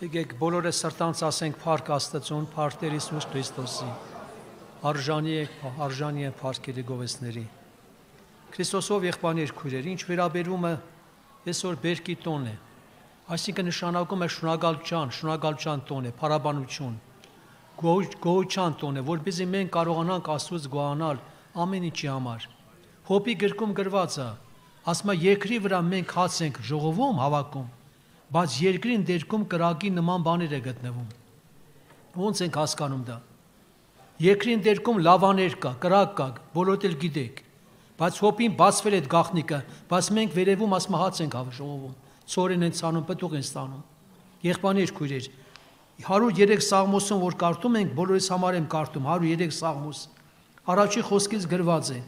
Եկեք բոլորը սրտանց ասենք փառք Աստծուն, փառք Տեր Հիսուս Քրիստոսի։ Արժանի է փառքերի գովեստների։ Քրիստոսով եղբայրներ քույրեր, ինչ վերաբերում է այսօր բերքի տոն է, այսինքն նշանակում է շնորհակալության տոն է, փառաբանություն, գոհության տոն է, որպեսզի մենք կարողանանք Աստծուց գոհանալ ամեն ինչի համար։ Հոբի գրքում գրված է, ասում է երկրի վրա մենք հաց ենք ժողովում, հավաքում, բայց երկրին դերքում կրակի նման բաներ է գտնվում։ Ոնց ենք հասկանում դա։ Երկրին դերքում լավաներ կա, կրակ կա, բոլորդ էլ գիտեք, բայց հոբին բացվել այդ գաղտնիքը, բայց մենք վերևում ասում հաց ենք ժողովում, ցորեն են ցանում, պտուղ են ստանում։ Եղբայրներ քույրեր, 103 Սաղմոսում որ կարդում ենք, բոլորիս համար եմ կարդում, 103 Սաղմոս, առաջի խոսքից գրված է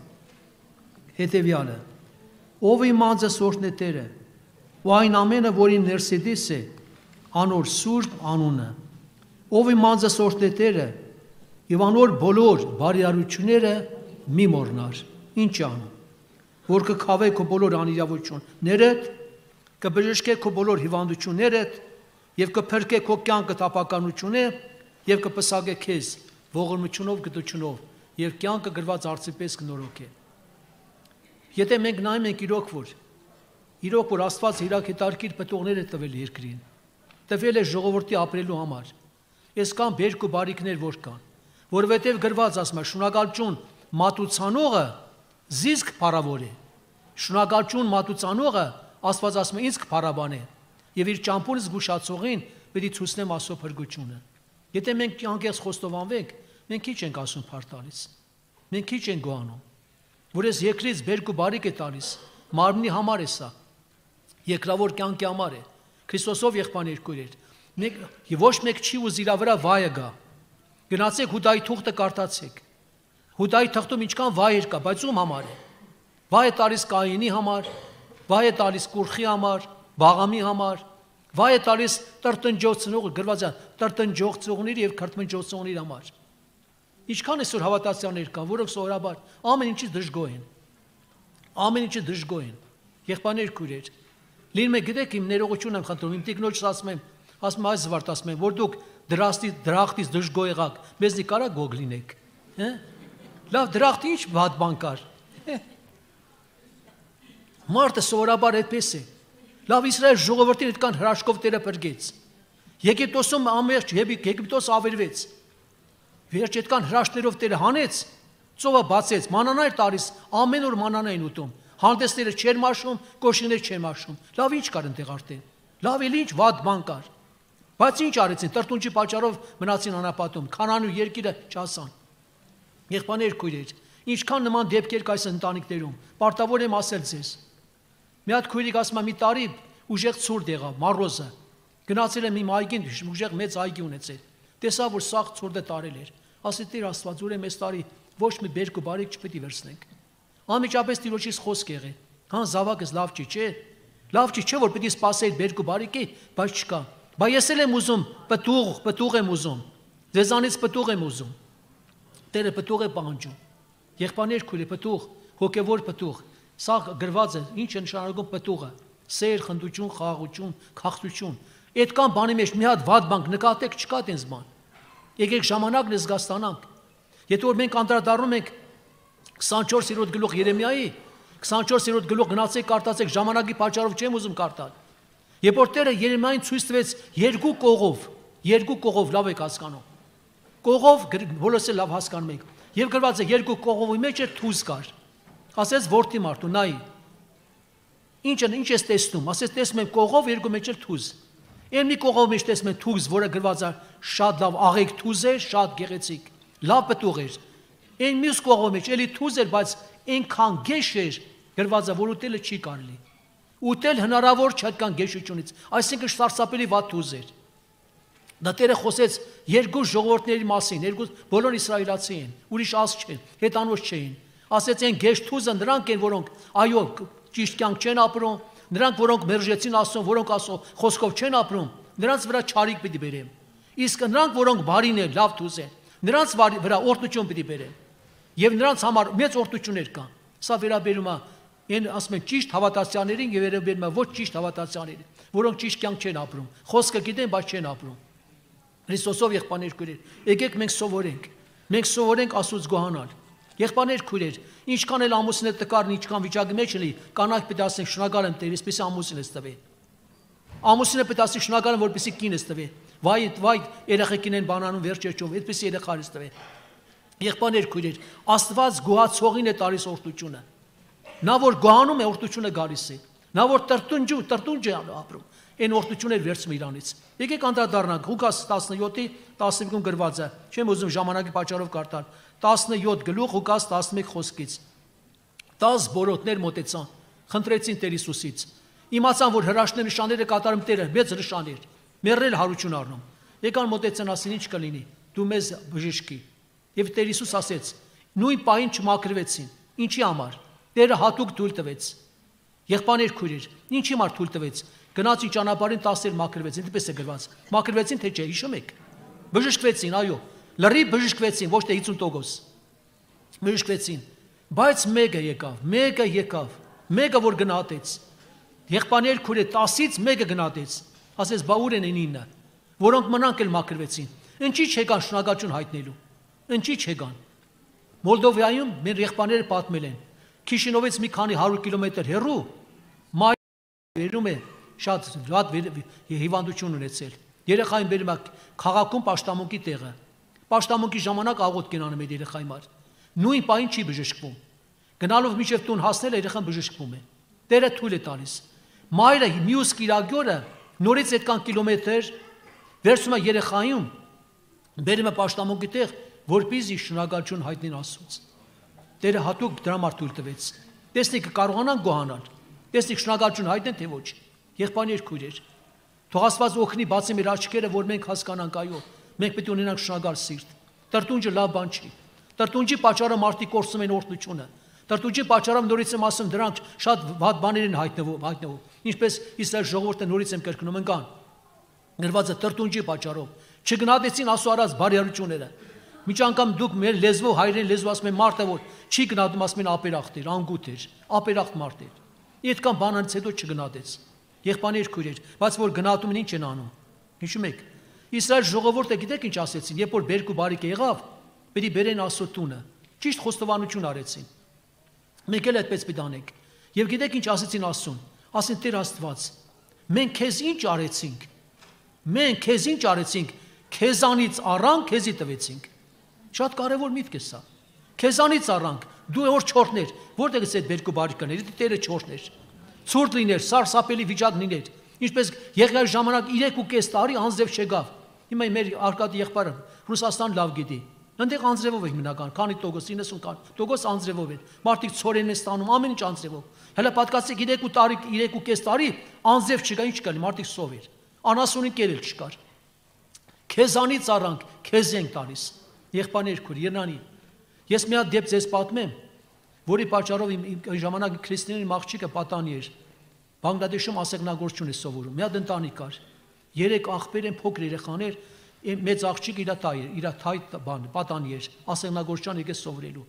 հետևյալը. Ով իմ անձը սորտն է Տերը, ու այն ամենը, որին ներսիդիս է, անոր սուրբ անունը, ով իմ անձը սորտն է Տերը, եւ անոր բոլոր բարիարությունները մի մոռնար, ինչ անում, որ կքավե քո բոլոր անիրավություններդ, կբժշկե քո բոլոր հիվանդություններդ, եւ կփրկե քո կյանքը տապականությունը, եւ կպսակե քեզ ողորմությունով, գտությունով, եւ կյանքը գրված արծի պես կնորոգե։ Եթե մենք նայում ենք իրոք որ Աստված իրաք հետարքիր պտուղներ է տվել երկրին, տվել է ժողովրդի ապրելու համար, այսքան բերք ու բարիքներ որ կան, որովհետև գրված ասում է շնորհակալություն մատուցանողը զիսկ փառավոր է, շնորհակալություն մատուցանողը Աստված ասում է ինձ կփառաբանե, եւ իր ճամփուրը զգուշացողին պետք է ցույցնեմ Աստծո փրկությունը։ Եթե մենք անկեղծ խոստովանվենք, մենք քիչ ենք ասում փառք տալիս, մենք քիչ ենք գոհանում, որ այս երկրից բերք ու բարիք է տալիս, մարմնի համար է սա, երկրավոր կյանքի համար է, Քրիստոսով եղբայրներ քույրեր, մենք ոչ մեկ չի ուզ իր վրա վայը գա, գնացեք Հուդայի թուղթը կարդացեք, Հուդայի թղթում ինչքան վայր կա, բայց ում համար է, վայ է տալիս Կայինի համար, վայ է տալիս Կուրխի համար, Բաղամի համար, վայ է տալիս տրտնջոցնող, գրված է տրտնջոցողների եւ քրտնջոցողների համար։ Ինչքան այսօր հավատացյալներ կան, որոնք սովորաբար ամեն ինչից դժգոհ են։ Ամեն ինչի դժգոհ են։ Եղբայրներ քույրեր, լինում է գիտեք իմ ներողություն եմ խնդրում, իմ տիկնոջս ասում եմ այս զվարթ ասում եմ, որ դուք դրախտից դժգոհ եղաք, մեզնի կարա գոգ լինեք, հա։ Լավ, դրախտի ինչ վատ բան կար։ Մարդը սովորաբար այդպես է։ Լավ, Իսրայել ժողովրդին այդքան հրաշքով Տերը փրկեց։ Եգիպտոսում ամերջ Եգիպտոս ավերվեց։ Վերջ այդքան հրաշքներով Տերը հանեց, ծովը բացեց, մանանա էր տալիս, ամեն օր մանանա էին ուտում։ Հանդեսները չեր մաշում, կոշիներ չեր մաշում։ Լավ, ինչ կար այնտեղ արդեն։ Լավ, էլ ինչ վատ բան կար։ Բայց ինչ արեցին, տրտունջի պատճառով մնացին անապատում, Քանանու երկիրը չասան։ Եղբայրներ քույրեր, ինչքան նման դեպքեր կա այս ընտանիքներում, պարտավոր եմ ասել ձեզ։ Մի հատ քույրիկ ասում է մի տարի ուժեղ ցուրտ եղավ, մառոզը։ Գնացել եմ իմ այգին, ուժեղ մեծ այգի ունեցել։ Տեսա, որ սաղ ցուրտը տարել էր։ Ասի Տեր Աստված, ուրեմն այս տարի ոչ մի բերք ու բարիք չպետք է վերցնենք։ Անմիջապես Տիրոջից խոսք եղե։ Հան զավակս լավ չի, չէ։ Լավ չի, որ պետք է սпасել բերք ու բարիքի, բայց չկա։ Բայց ես էլ եմ ուզում պտուղ եմ ուզում։ Ձեզանից պտուղ եմ ուզում։ Տերը պտուղ է պահանջում։ Եղբայրներ քույրեր, պտուղ, հոգևոր պտուղ։ Սա գրված է, ինչ է նշանակում պտուղը։ Սեր, խնդություն, խաղաղություն, քաղցություն։ Այդքան բանի մեջ մի հատ վատ բան նկատեք, չկա այդպես բան։ Եկեք ժամանակն զգաստանանք։ Եթե որ մենք անդրադառնում ենք 24-րդ գլուխ Երեմիայի, 24-րդ գլուխ գնացեք կարդացեք, ժամանակի պատճառով չեմ ուզում կարդալ։ Երբ որ Տերը Երեմիային ցույց տվեց երկու կողով, լավ եք հասկանում։ Կողով բոլորս էլ լավ հասկանում ենք։ Եվ գրված է երկու կողովի մեջ էր թուզ կար։ Ասեց որդի մարդու, նայ։ Ինչ ես տեսնում։ Ասեց տեսնում եմ կողով երկու մեջ էր թուզ։ Այն մի կողով մեջ տեսնում եմ թուզ, որը գրված է շատ լավ աղեկ թուզ է, շատ գեղեցիկ։ Լավ պտուղ էր։ Այն մյուս կողով մեջ էլի թուզ էր, բայց այնքան գեշ էր, գրված է, որ ուտելը չի կարելի։ Ուտել հնարավոր չէ այդքան գեշությունից, այսինքն սարսափելի վատ թուզ էր։ Դա Տերը խոսեց երկու ժողովուրդների մասին, երկու բոլոր իսրայելացի են, ուրիշ ազգ չեն, հետանոց չէին։ Ասեց այն գեշ թուզը նրանք են, որոնք այո, ճիշտ կյանք չեն ապրում, նրանք որոնք մերժեցին Աստծուն, որոնք Աստծո խոսքով չեն ապրում, նրանց վրա չարիք պիտի բերեմ։ Իսկ նրանք, որոնք բարին են, լավ թուզ են, նրանց վրա օրհնություն պիտի բերեմ։ Եվ նրանց համար մեծ օրհնություններ կան։ Սա վերաբերում է Այն ասում են ճիշտ հավատացյալներին եւ երբեմն ոչ ճիշտ հավատացյալներին, որոնք ճիշտ կյանք չեն ապրում, խոսքը գիտեն, բայց չեն ապրում։ Քրիստոսով եղբայրներ քույրեր, եկեք մենք սովորենք։ Մենք սովորենք Աստծուց գոհանալ։ Եղբայրներ քույրեր, ինչքան էլ ամուսինը տկարն, ինչքան վիճակի մեջ լինի, կանայք պետք է ասեն շնորհակալ եմ Տեր, այսպեսի ամուսին ես տվել։ Ամուսինը պետք է ասի շնորհակալ եմ, որպեսզի կինս տվել։ Վայ, երեխեքին են բանանում վերջերջով, այդպեսի երեխա ես տվել։ Եղբայրներ քույրեր, Աստված գոհացողին է տալիս օրհնությունը։ Նա որ գոհանում է, օրհնությունը գալիս է։ Նա որ տրտունջ է ապրում, այն օրհնությունն էր վերցնում իրանից։ Եկեք անդրադառնանք Ղուկաս 17-ի 15-ում գրված է։ Չեմ ուզում ժամանակի պատճառով կարդալ։ 17 գլուխ Ղուկաս 11 խոսքից։ 10 բորոտներ մոտեցան, խնդրեցին Տեր Հիսուսից։ Իմացան, որ հրաշքներ նշանները կատարում Տերը, մեծ նշաններ, մեռել հարություն առնում։ Եկան մոտեցան, ասին ինչ կլինի, դու մեզ բժշկի։ Եվ Տեր Հիսուս ասեց. նույն պահին չմաքրվեցին։ Ինչի համար։ Տերը հատուկ թույլ տվեց։ Եղբայրներ քույրեր, ինչի համար թույլ տվեց։ Գնացին ճանապարհին 10 մաքրվեցին, դեպս է գրված։ Մաքրվեցին թե չէ, հիշում եք։ Բժշկվեցին, այո։ Լրիվ բժշկվեցին, ոչ թե 50%։ Բժշկվեցին։ Բայց մեկը եկավ, որ գնահատեց։ Եղբայրներ քույրեր 10-ից մեկը գնահատեց։ Ասես բա ուր են 9, որոնք մնանք էլ մաքրվեցին։ Ինչի՞ չեկան շնորհակալություն հայտնելու։ Ինչի՞ չեկան։ Մոլդովայում մեր եղբայրները պատմել են։ Քիշինովից մի քանի 100 կիլոմետր հեռու վերում է շատ վատ հիվանդություն ունեցել։ Երեխային բերում է քաղաքում պաշտամունքի տեղը։ Պաշտամունքի ժամանակ աղոթք են անում այդ երեխայի համար։ Նույն պահին չի բժշկվում։ Գնալով մինչև տուն հասնել երեխան բժշկվում է։ Տերը թույլ է տալիս։ Մայրը մյուս կիրագյորը նորից այդքան կիլոմետր վերցում է երեխային, բերում է պաշտամունքի տեղ, որպեսզի շնորհակալություն հայտնեն Աստծուց։ Տերը հատուկ դրա համար թույլ տվեց։ Տեսնեք կարողանան գոհանալ։ Տեսնեք շնորհակալություն հայտնեն թե ոչ։ Եղբայրներ քույրեր, թող Աստված օգնի բացի մեր աչքերը, որ մենք հասկանանք, այո, մենք պետք է ունենանք շնորհակալ սիրտ։ Տրտունջը լավ բան չի։ Տրտունջի պատճառը մարդիկ կորցնում են օրհնությունը։ Տրտունջի պատճառով նորից եմ ասում, դրանք շատ վատ բաներ են հայտնվում։ Ինչպես Իսրայել ժողովուրդը նորից եմ կրկնում ընկան։ Գրված է տրտունջի պատճառով։ Չգնահատեցին Աստծո արած բարիարությունները։ Միջ անգամ դուք մեր լեզվով հայրեն լեզվով ասում են մարդը որ չի գնահատում, ասում են ապերախտ էր, անգութ էր, ապերախտ մարդ էր։ Այդքան բանից հետո չգնահատեց։ Եղբայրներ քույրեր, բայց որ գնահատում են ինչ են անում։ Հիշում եք։ Իսրայել ժողովուրդը գիտեք ինչ ասեցին, երբ որ բերք ու բարիք եղավ, պետք է բերեն Աստծո տունը։ Ճիշտ խոստովանություն արեցին։ Մենք էլ այդպես պետք անենք։ Եվ գիտեք ինչ ասեցին Աստծուն։ Ասին Տեր Աստված, մենք քեզ ինչ արեցինք։ Մենք քեզ ինչ արեցինք, քեզանից առանք, քեզի տվեցինք։ Շատ կարևոր միտք է սա։ Քեզանից առանք, դու որ չորներ, որտեղից է այդ բերք ու բարիքները, Տերը չորներ։ Ցուրտ լիներ, սարսափելի վիճակ լիներ։ Ինչպես Եղիայի ժամանակ 3.5 տարի անձև չգավ։ Հիմա մեր Արկադի եղբայրը Ռուսաստան լավ գիտի։ Այնտեղ անձրևով է հիմնական, քանի տոկոս 90% անձրևով է։ Մարդիկ ցորեն են ստանում, ամեն ինչ անձրևով։ Հələ պատկացեք 3.5 տարի անձև չկա, ինչ կա, մարդիկ սով էր։ Անասունի կերել չկար։ Քեզանից առանք, քեզ ենք տալիս։ Եղբայրներ քույր, Երնանի։ Ես մի հատ դեպք ձեզ պատմեմ, որի պատճառով իմ ժամանակ քրիստոնյա աղջիկը պատանի էր։ Բանգլադեշում ասեղնագործություն է սովորում։ Մի հատ ընտանիք կար։ 3 աղբեր են, փոքր երեխաներ, մեծ աղջիկը իր տայ էր, իր թայ պատանի էր, ասեղնագործության եկեց սովորելու։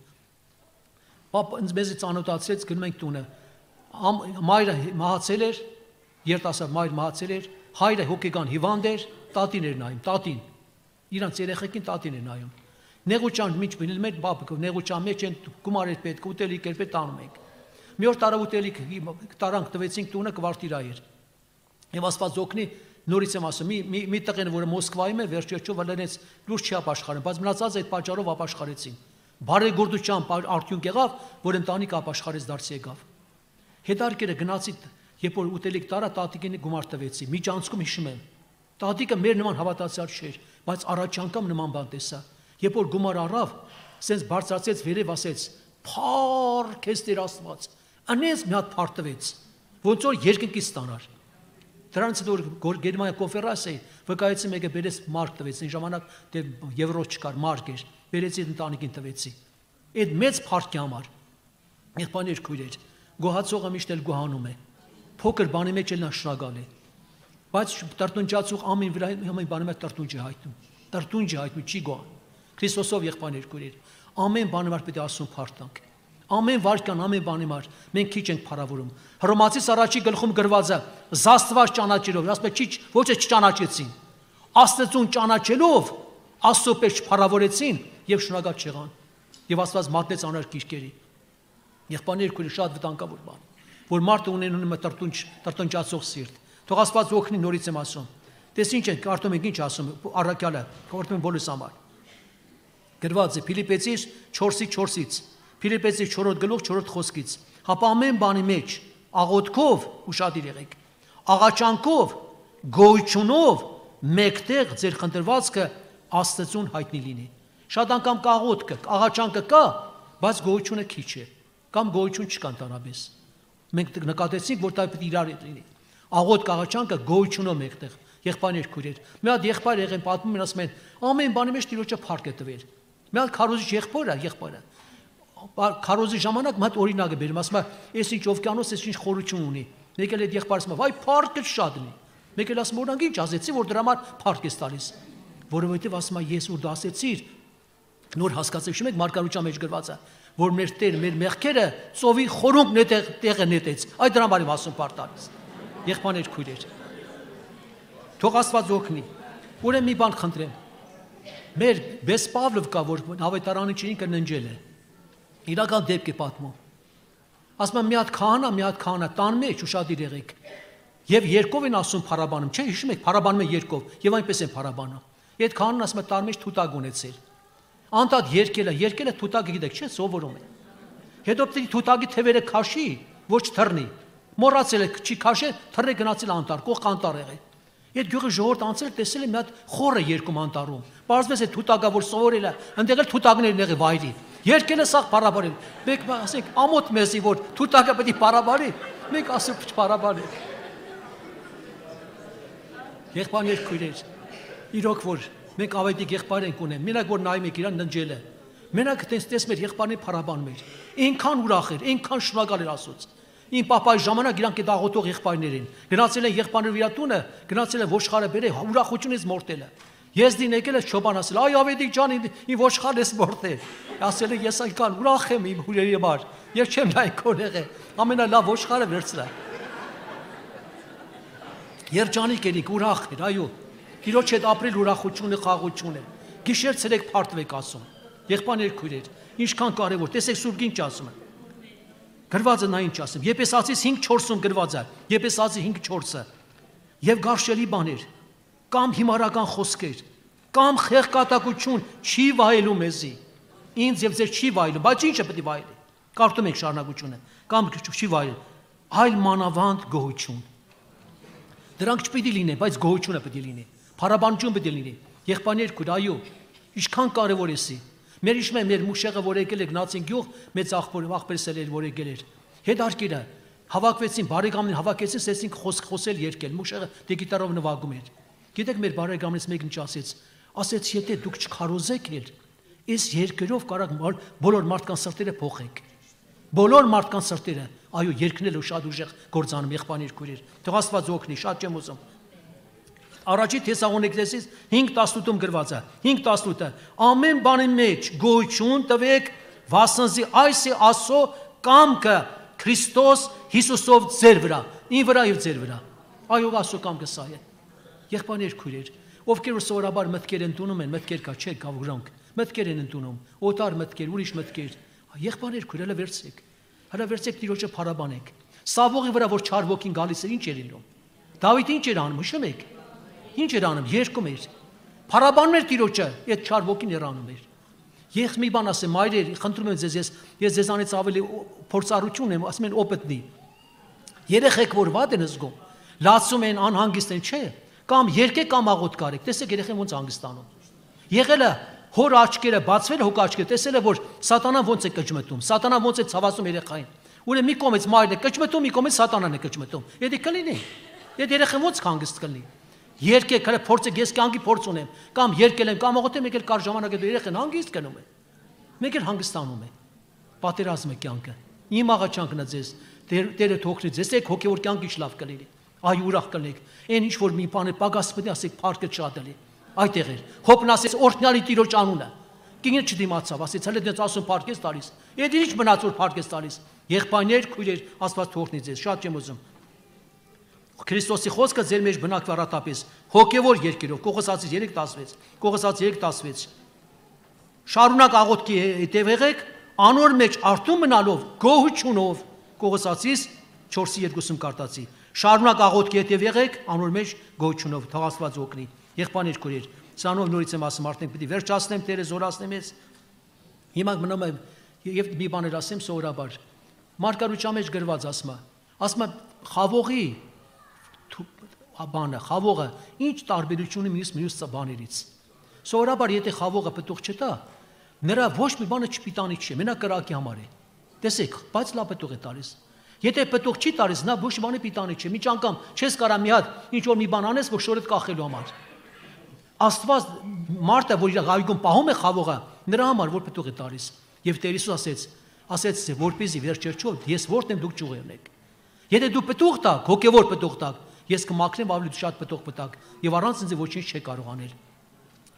Պապա ինձ մեզ ծանոթացրեց, գնում ենք տունը։ Մայրը մահացել էր, երիտասարդ մայր մահացել էր, հայրը հոգեկան հիվանդ էր, տատին էր նայում, տատին։ Իրանց երեխեքին տատին էր նայում։ Նեղուճան միջ բնել մեր բաբիկով, նեղուճան մեջ են գումար էր պետք, ուտելիք էր պետք տանում ենք։ Մի օր տարավ ուտելիք տարանք տվեցինք տունը կվարտիրա էր։ Եվ Աստված օգնի, նորից եմ ասում, մի տղեն, որը Մոսկվայում է, վերջերջով լենեց լուրջ չի ապաշխարել, բայց մնացած այդ պատճառով ապաշխարեցին։ Բարեգործության արդյունք եղավ, որ ընտանիք ապաշխարեց դարձի եկավ։ Հետարկերը գնացի, երբ որ ուտելիք տարա, տատիկին գումար տվեցի։ Միջանցքում հիշում եմ։ Տատիկը մեր նման հավատացյալ չէր, բայց առաջ անգամ նման բան տեսա։ Երբ որ գումար առավ, սենց բարձրացեց վերև ասեց. «Փառ քեզ Տեր Աստված»։ Անես մի հատ փառ տվեց, ոնց որ երկնքից ստանար։ Դրանից հետո Գերմանիա կոնֆերանսի վկայեցի մեկը բերեց մարկ տվեց, այն ժամանակ եվրո չկար, մարկ էր, բերեցի ընտանիքին տվեցի։ Այդ մեծ փառքի համար եղբայրներ քույրեր, գոհացողը միշտ էլ գոհանում է։ Փոքր բանի մեջ էլ նա շնորհակալ է։ Բայց տրտունջացող ամեն վրա ամեն բանի մեջ տրտունջ է հայտնում։ Տրտունջ է հայտնում, չի գոհ։ Քրիստոսով եղբայրներ քույրեր, ամեն բանի մեջ պետք է Աստծուն փառք տանք։ Ամեն վարքան, ամեն բանի համար մենք քիչ ենք փառավորում։ Հռոմացիս առաջի գլխում գրված է զաստված ճանաչելով, ասում է ոչ է չճանաչեցին։ Աստծուն ճանաչելով Աստծո պես փառավորեցին եւ շնորհակալ չեղան։ Եվ Աստված մատնեց անար կիրքերի։ Եղբայրներ քույրեր շատ վտանգավոր բան, որ մարդը ունենում է տրտնջացող սիրտ։ Թող Աստված օգնի, նորից եմ ասում։ Տես ինչ ենք, կարդում ենք ինչ ասում առաքյալը, կարդում ենք բոլորս համար։ Գրված է Ֆիլիպեցիս 4:4-ից, Ֆիլիպեցիս 4-րդ գլուխ 4-րդ խոսքից։ Հապա ամեն բանի մեջ աղոթքով ուշադիր եղեք, աղաչանքով, գոյությունով մեկտեղ ձեր խնդրվածքը Աստծուն հայտնի լինի։ Շատ անգամ կա աղոթքը, աղաչանքը կա, բայց գոյությունը քիչ է, կամ գոյություն չկա ընդհանրապես։ Մենք նկատեցինք, որ դա պետք է իրար լինի։ Աղոթք, աղաչանքը գոյությունով մեկտեղ։ Եղբայրներ քույրեր, մի հատ եղբայր եղեն պատմում են, ասում են, ամեն բանի մեջ Տիրոջը փառք է տվել։ Մի հատ քարոզիչ եղբայրը քարոզի ժամանակ մի հատ օրինակ է բերում, ասում է, «Էս ինչ օվկիանոս, էս ինչ խորություն ունի»։ Մեկ էլ այդ եղբայրը ասում է, «Վայ, փառքը շատ ունի»։ Մեկ էլ ասում, «Օրինակ ինչ ասեցի, որ դրա համար փառք ես տալիս»։ Որովհետև ասում է, «Ես որ դա ասեցիր, նոր հասկացել, շուտ եք մարգարության մեջ գրված է, որ մեր Տեր մեր մեղքերը ծովի խորունկն է տեղը նետեց»։ Այդ դրա համար եմ ասում փառք տալիս։ Եղբայրներ քույրեր, թող Աստված օգնի։ Ուրեմն մի բան խնդրեմ։ Մեր Բես Պավլով կա, որ ավետարանի ինքը ննջել է։ Իրական դեպք է պատմում։ Ասում եմ մի հատ քահանա տան մեջ ուշադիր եղեք։ Եվ երկով են ասում փառաբանում, չէ՞, հիշում եք, փառաբանում են երկով, եւ այնպես են փառաբանում։ Այդ քահանան ասում է տան մեջ թութակ ունեցել։ Անդադ երկելը թութակը գիտեք, չէ՞, սովորում է։ Հետո պետք է թութակի թևերը քաշի, ոչ թռնի։ Մոռացել է, չի քաշել, թռը գնացել անտառ, կողք անտառ եղել։ Այդ գյուղի ժողովուրդ անցել տեսել է մի հատ խորը երկում անտառում։ Պարզվեց է թութակը, որ սովորել է, այնտեղ էլ թութակներն եղի վայրի։ Երկել է սաղ փառաբարել։ Մեկ ասենք ամոթ մեզի, որ թութակը պետք է փառաբարի, մեկ ասում չփառաբարի։ Եղբայրներ քույրեր, իրոք որ մենք ավետիք եղբայր ենք ունեն, մենակ որ նայում եք իրան ննջել է։ Մենակ տեսնում եք եղբայրների փառաբանում էր։ Այնքան ուրախ էր, այնքան շնորհակալ էր Աստծո։ Իմ պապայի ժամանակ իրանք այդ աղոթող եղբայրներ են։ Գնացել են եղբայրները իր տունը, գնացել են ոչխարը բերել, ուրախությունից մորտել է։ Ես դին եկել ես Չոբան ասել, «Այ ավետիք ջան, իմ ոչխարն ես մորտել»։ Ասել է, «Ես այնքան ուրախ եմ իմ հյուրերի համար, ես չեմ նայ քոնեղը, ամենալավ ոչխարը վերցրա»։ Երջանիկ ելիք, ուրախ էր, այո։ Տիրոջ հետ ապրել ուրախությունը, խաղաղությունը։ Գիշեր ցերեկ փարթվեք ասում։ Եղբայրներ քույրեր, ինչքան կարևոր, տեսեք Սուրբ Գիրքը ասում է։ Գրված է նա ինչ ասում։ Եփեսացիս 5:4-ում գրված է։ Եփեսացի 5:4-ը։ Եվ գարշելի բաներ, կամ հիմարական խոսքեր, կամ խեղկատակություն չի վայելու մեզի։ Ինձ եւ ձեր չի վայելու, բայց ինչը պետք է վայելի։ Կարդում եք շարունակությունը, կամ չի վայել, այլ մանավանդ գոհություն։ Դրանք չպետք է լինեն, բայց գոհությունը պետք է լինի։ Փառաբանություն պետք է լինի։ Եղբայրներ քույր, այո, ինչքան կարևոր է սի։ Մեր իշմե մեր մուշեղը որ եկել է գնացին գյուղ, մեծ աղբերս էր որ եկել էր։ Հետարկերը հավաքվեցին, բարեկամներին հավաքեցին, սեսին խոսել երկել, մուշեղը գիտարով նվագում էր։ Գիտեք մեր բարեկամներից մեկն ինչ ասեց, եթե դուք չքարոզեք էլ, այս երկերով կարող բոլոր մարդկանց սրտերը փոխեք։ Բոլոր մարդկանց սրտերը, այո, երկնելու շատ ուժեղ գործանում եղբայրներ քույրեր։ Թող Աստված օգնի, շատ չեմ ուզում։ Առաջի Թեսաղոնիկեցիս 5:18-ում գրված է, 5:18-ը, ամեն բանի մեջ գոյություն տվեք, վասնզի այս է Աստծո կամքը Քրիստոս Հիսուսով ձեր վրա, ին վրա եւ ձեր վրա։ Այո, Աստծո կամքը սա է։ Եղբայրներ քույրեր, ովքեր որ սովորաբար մտքեր ընդունում են, մտքեր կա, չէ, կա ուրանք, մտքեր են ընդունում, օտար մտքեր, ուրիշ մտքեր։ Եղբայրներ քույրերը վերցեք Տիրոջը փառաբանեք։ Սավողի վրա որ չար ոգին գալիս էր, ինչ էր լինում։ Դավիթը ինչ էր անում, հիշում եք։ Ինչ էր անում, երգում էր։ Փառաբանում էր Տիրոջը, այդ չար ոգին էր անում էր։ Ես մի բան ասեմ, մայրեր, խնդրում եմ ձեզ, ես ձեզանից ավելի փորձառություն եմ, ասում են օպետնի։ Երեխեք որ վատ են զգում, լացում են, անհանգիստ են, չէ։ Կամ երկեք կամ աղոթք արեք, տեսեք երեխեն ոնց հանգստանում։ Եղել է հոր աչքերը բացվել, հոգ աչքերը, տեսել է որ սատանան ոնց է կճմտում, սատանան ոնց է ցավացում երեխային։ Ուրեմն մի կողմից մայրն է կճմտում, մի կողմից սատանան է կճմտում։ Եթե կլինի, այդ երեխան ոնց հանգիստ կլինի։ Երկեք, հələ փորձեք, ես կյանքի փորձ ունեմ, կամ երկել եմ, կամ աղոթեմ, եկել կար ժամանակ է երեխան հանգիստ կնում է։ Մեկ էլ հանգստանում է։ Պատերազմ է կյանքը։ Իմ աղաչանքն է ձեզ, Տերը թողնի ձեզ, եք հոգևոր կյանքի շլավ կլինի։ Այ ուրախ կլինեք։ Այն ինչ որ մի բան է պակաս պետք է ասեք, փառքը շատ էլի։ Այդտեղ էր։ Հոբն ասեց օրհնյալի Տիրոջ անունը։ Կինը չդիմացավ, ասեց, հələ դες ասում փառք ես տալիս։ Եթե ինչ մնաց որ փառք ես տալիս։ Եղբայրներ, քույրեր, Աստված թողնի ձեզ, շատ չեմ ուզում։ Քրիստոսի խոսքը ձեր մեջ բնակվի առատապես հոգևոր երկերով, Կողոսացիս 3:16, Կողոսաց 3:16։ Շարունակ աղոթքի հետև եղեք, անոր մեջ արթուն մնալով, գոհությունով, Կողոսացիս 4:2 կարտացի։ Շարունակ աղոթքի հետև եղեք, անոր մեջ գոհությունով, թող Աստված օգնի։ Եղբայրներ, քույրեր, սրանով նորից եմ ասում, արդեն պիտի վերջացնեմ, Տերը զորացնեմ ես։ Հիմա մնում եմ եւ մի բաներ ասեմ սովորաբար։ Մարգարության մեջ գրված ասում է խավողի բանը, խավողը ինչ տարբերություն ունի մյուս բաներից։ Սովորաբար եթե խավողը պտուղ չտա, նրա ոչ մի բանը չպիտանի չի, մենակ կրակի համար է։ Տեսեք, բայց լավ պտուղ է տալիս։ Եթե պտուղ չի տալիս, նա ոչ մի բանը պիտանի չի։ Մի անգամ չես կարա մի հատ ինչ որ մի բան անես, որ շորդ կախելու համար։ Աստված մարդը, որ իր այգում պահում է խավողը, նրա համար որ պտուղ է տալիս։ Եվ Տեր Հիսուս ասեց, որպեսզի վերջերչով ես որտեմ դուք ճյուղերն եք։ Եթե դու պտուղ տաք, հոգևոր պտուղ տաք, ես կմաքրեմ ավելի շատ պտուղ պտակ եւ առանց ինձ ոչինչ չի կարող անել։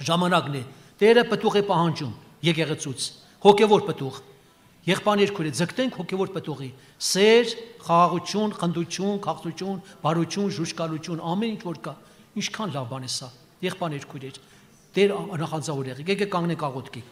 Ժամանակն է, Տերը պտուղ է պահանջում եկեղեցուց, հոգևոր պտուղ։ Եղբայրներ քույրեր, ձգտենք հոգևոր պտուղի, սեր, խաղաղություն, խնդություն, քաղցություն, բարություն, ժուժկալություն, ամեն ինչ որ կա, ինչքան լավ բան է սա։ Եղբայրներ քույրեր, Տեր նախանձավոր եղեք, եկեք կանգնենք աղոթքի։